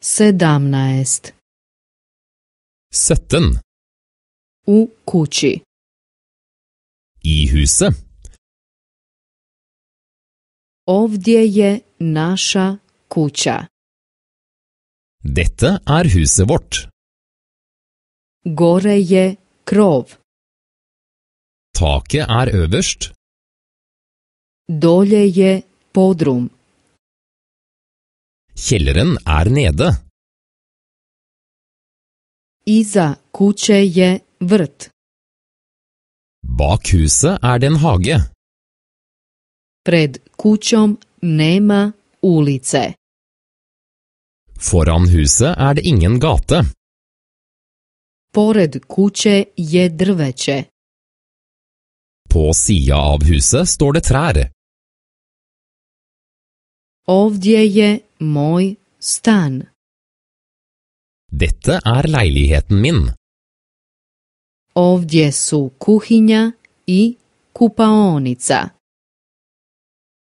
17. 17. U kući. I huset. Ovdje je naša kuća. Dette huset vårt. Gore je krov. Taket øverst. Dolje je podrum. Kjelleren nede. Iza kuće je vrt. Bak huset det en hage. Pred kućom nema ulice. Foran huset det ingen gate. Pored kuće je drveće. På sida av huset står det trær. Ovdje je moj stan. Dette leiligheten min. Ovdje su kuhinja i kupaonica.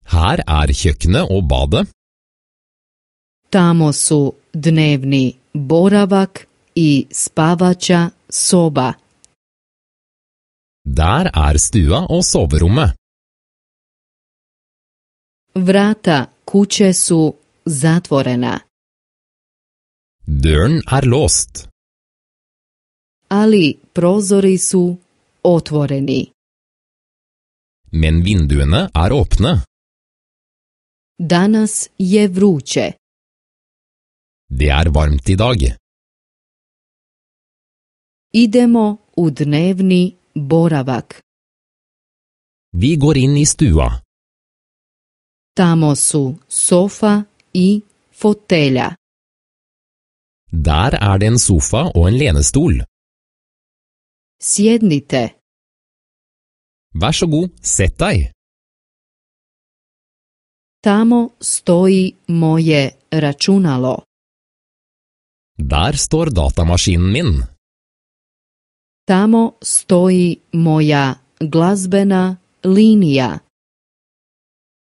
Her kjøkkenet og badet. Tamo su dnevni boravak i spavača soba. Der stua og soverommet. Vrata kuće su zatvorena. Døren låst. Ali prozori su otvoreni. Men vinduene åpne. Danas je vruće. Det varmt i dag. Idemo u dnevni boravak. Vi går inn i stua. Tamo su sofa i fotelja. Der det en sofa og en lenestol. Sjednite. Vær så god, sett deg. Tamo stoji moje računalo. Der står datamaskinen min. Tamo stoji moja glazbena linija.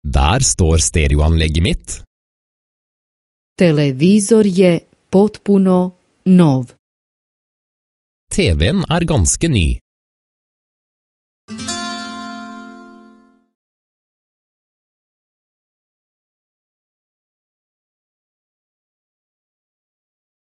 Der står stereoanlegget mitt. Televizor je potpuno nov. TV-en ganske ny.